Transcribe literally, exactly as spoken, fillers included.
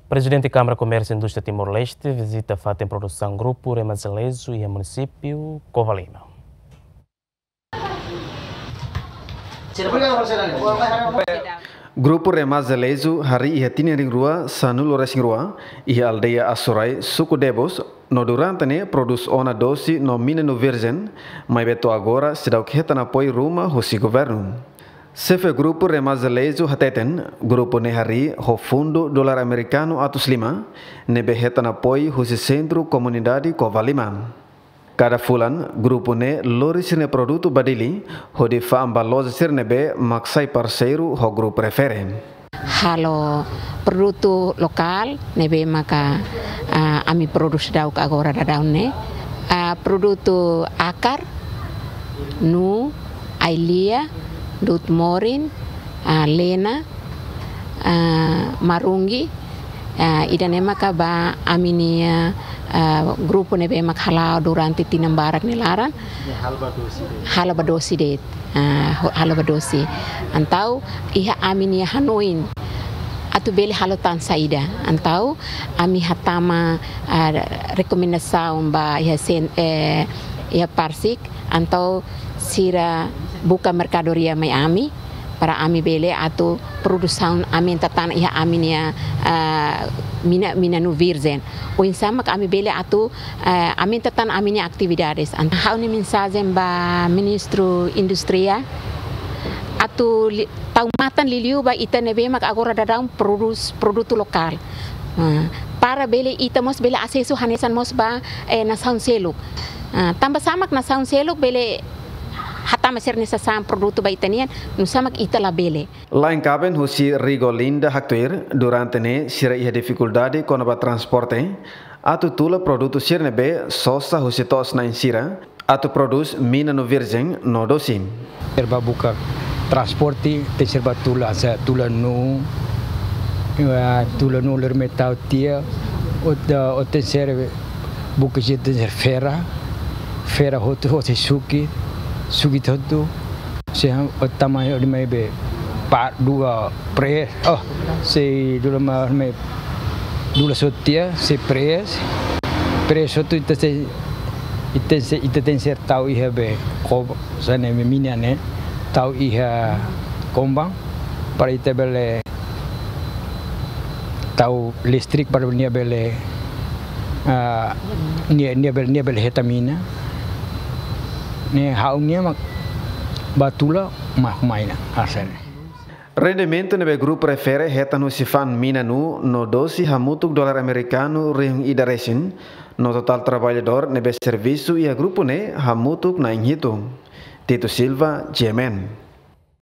Prezidente Kámara Komérsiu Indústria Timor-Leste vizita fatin produsaun Grupu Remazalezu iha munisípiu Covalima. Grupu Remazalezu harii iha tinan rihun rua sanulu-resin-rua iha aldeia Asurai, suku Debos, no durante ne'e produz ona dosi no mina-nuu virjen, maibé to'o agora seidauk hetan apoiu ruma husi governu. Xefe Grupu Remazalezu hateten, grupu ne'e harii ho fundu dolar amerikanu atus lima, ne'ebé hetan apoiu husi Sentru Komunidade Covalima. Kada fulan, grupu ne'e lori sira-nia produtu ba Dili, hodi fa'an ba loja sira ne'ebé mak sai parseiru ho Grupu Refere. Halo produtu lokál ne'ebé maka, ah, ami produs daudauk agora daudaun ne'e. Ah, produtu akar, nuu, ai-lia, du'ut morin, ah, lena, ah, marungi, ah, ida-ne'e maka ba ami-nia, ah, grupu ne'ebé mak hala'o durante tinan barak nia laran. Halo ba dosi de'it. Halo ba dosi de'it. Ah, ho-, halo ba dosi. Entaun iha ami-nia hanoin atu bele halo tan saida. Entaun ami hatama, ah, rekomendasaun ba iha sen-, eh, iha Parsik, entaun sira buka merkadoria mai ami, para ami bele atu produsaun aumenta tan iha ami-nia, ah, mina, mina-nuu virjen. Oinsá mak ami bele atu, ah, aumenta tan ami-nia atividades. Entaun ha'u-nia mensajen ba Ministru Indústria atu li-, tau matan liuliu ba ita ne'ebé mak agora daudaun produz produtu lokál. Ah, para bele ita mós bele asesu hanesan mós ba, eh, nasaun seluk. Ah, tanba sá mak nasaun seluk bele hatama sira-nia sasán produtu ba ita-nian, nusá mak ita labele. La'en kaben husi Rigolinda haktuir, durante ne'e sira iha difikuldade kona-ba transporte atu tula produtu sira ne'ebé sosa husi to'os-na'in sira atu produz mina-nuu virjen no dosi. Serba buka transporte, tenke serba tula, hanesan tula nuu, eh, tula nuu ler metal tia, ot-, ot tenke ser buka je tenke ser fera, fera hotu, hotu suki, suki hotu, se han, ot tama hodi mai be, pa, dua, pres, oh, se dula ma, mai, dula sotia, se pres, pres hotu ita se, ita se, ita tenke ser tau iha be, ko, hanesan ne'e mina ne'e, tau iha kombang, para ita bele tau listrik para nia bele, ah, nia, nia bele, nia bele hetan mina. Ne'e ha'u-nia mak ba tula mak mai ona, hanesan ne'e. Rendimentu ne'ebé Grupu Refere hetan husi fa'an mina-nuu no dosi hamutuk dolar amerikanu rihun ida resin, no totál traballadór ne'ebé servisu iha grupu ne'e hamutuk na'in hitu. Tito Silva, G M N.